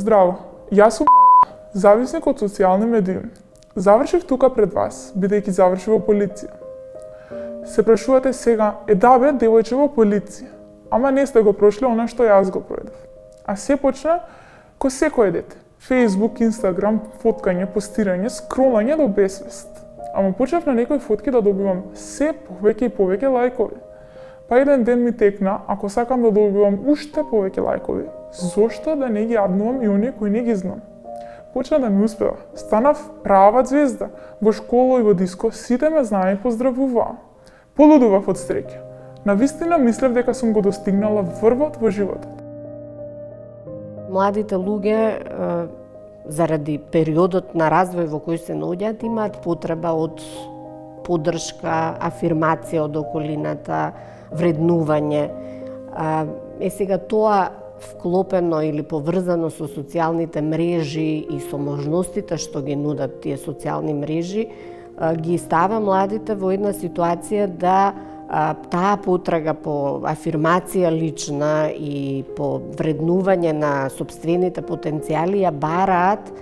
Здраво, јас сум зависник од социјални медии. Завршив тука пред вас, бидејќи завршив во полиција. Се прашувате сега, да бе, девојче во полиција, ама не сте го прошли она што јас го пројдов. А се почна ко секој дете. Facebook, Instagram, фоткање, постирање, скролање до бесвест. Ама почнав на некои фотки да добивам се повеќе и повеќе лајкови. Па еден ден ми текна, ако сакам да добивам уште повеќе лајкови, зошто да не ги аднувам и оние кои не ги знам? Почна да ми успева. Станав права звезда. Во школа и во диско сите ме знаа и поздравуваа. Полудував од среќа. Навистина мислев дека сум го достигнала врвот во животот. Младите луѓе, заради периодот на развој во кој се наоѓаат, имаат потреба од поддршка, афирмација од околината, вреднување. Сега тоа вклопено или поврзано со социјалните мрежи и со можностите што ги нудат тие социјални мрежи, ги става младите во една ситуација да таа потрага по афирмација лична и по вреднување на сопствените потенцијали ја бараат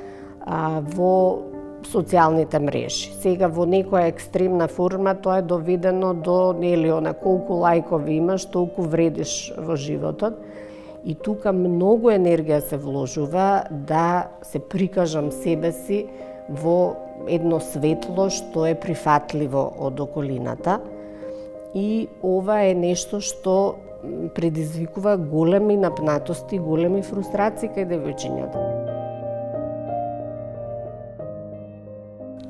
во социјалните мрежи. Сега во некоја екстремна форма тоа е доведено до колку лајкови имаш, толку вредиш во животот. И тука многу енергија се вложува да се прикажам себе си во едно светло што е прифатливо од околината. И ова е нешто што предизвикува големи напнатости, големи фрустрации кај девојчињата.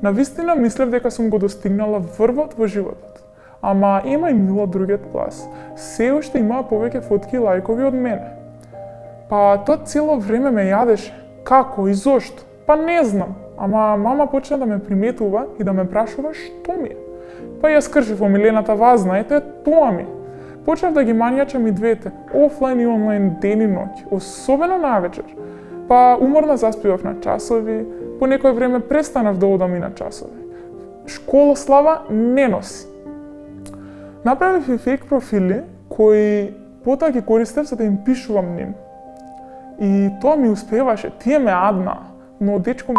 Навистина мислев дека сум го достигнала врвот во животот. Ама има и Мила другиот клас. Се уште имаа повеќе фотки и лајкови од мене. Па тоа цело време ме јадеше. Како и зошто? Па не знам. Ама мама почна да ме приметува и да ме прашува што ми е. Па ја скршив омилената вас, знаете, тоа ми. Почнав да ги мањачам и двете, офлайн и онлайн ден и ноќ, особено навечер. Па уморна заспивав на часови, по некој време престанав да одам и на часови. Школа слава не носи. Направив и фейк профили кои потоа ги користев за да им пишувам ним. И тоа ми успеваше, тие ме адна, но дечко ми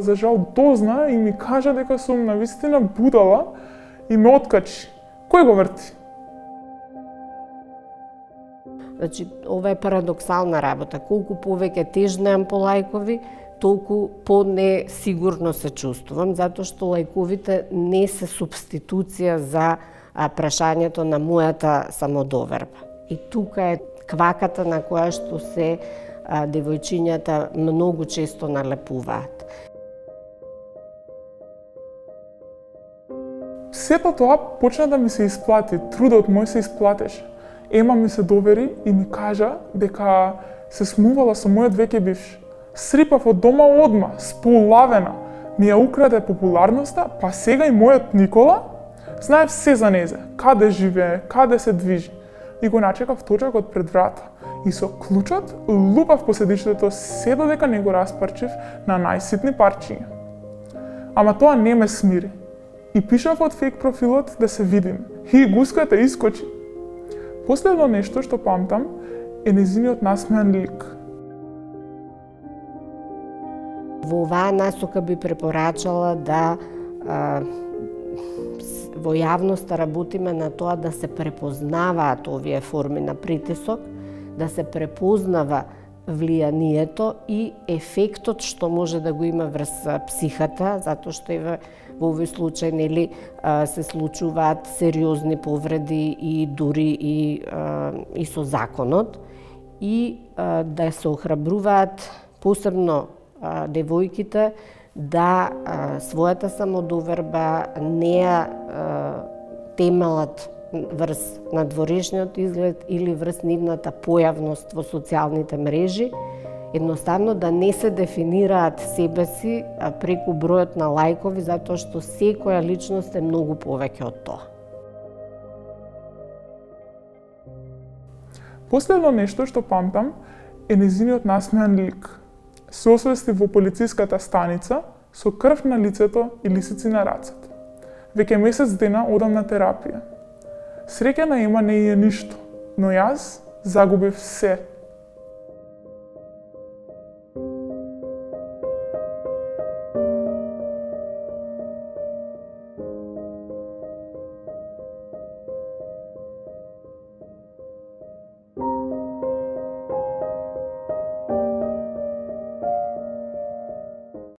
за жал дозна и ми кажа дека сум навистина будала и ме откачи. Кој го врти? Значи, ова е парадоксална работа. Колку повеќе тежнеам по лајкови, толку по-несигурно се чувствувам, затоа што лајковите не се субституција за прашањето на мојата самодоверба. И тука е кваката на која што се девојчињата многу често налепуваат. Сето тоа почна да ми се исплати, трудот мој се исплатеше. Ема ми се довери и ми кажа дека се смувала со мојот веќе бивш. Срипав од дома одма, сполавена. Ми ја украде популарноста, па сега и мојот Никола знаев се за незе, каде живее, каде се движи. И го начекав точакот пред врата. И со клучот лупав по седиштето се додека не го распарчив на најситни парчиња. Ама тоа не ме смири. И пишав од фейк профилот да се видим. И гуската искочи. Последно нешто што памтам е нејзиниот насмеан лик. Во оваа насока би препорачала да во јавноста работиме на тоа да се препознаваат овие форми на притисок, да се препознава влијанието и ефектот што може да го има врз психата, затоа што во овој случај се случуваат сериозни повреди и дури и со законот, и да се охрабруваат посебно девојките да својата самодоверба не ја темелат врз надворешниот изглед или врз нивната појавност во социјалните мрежи, едноставно да не се дефинираат себе си преку бројот на лајкови, затоа што секоја личност е многу повеќе од тоа. Последно нешто што памтам е нејзиниот насмеан лик. Се освести во полициската станица со крв на лицето и лисици на рацете. Веќе месец дена одам на терапија. Среќа на Ема не е ништо, но јас загубив се.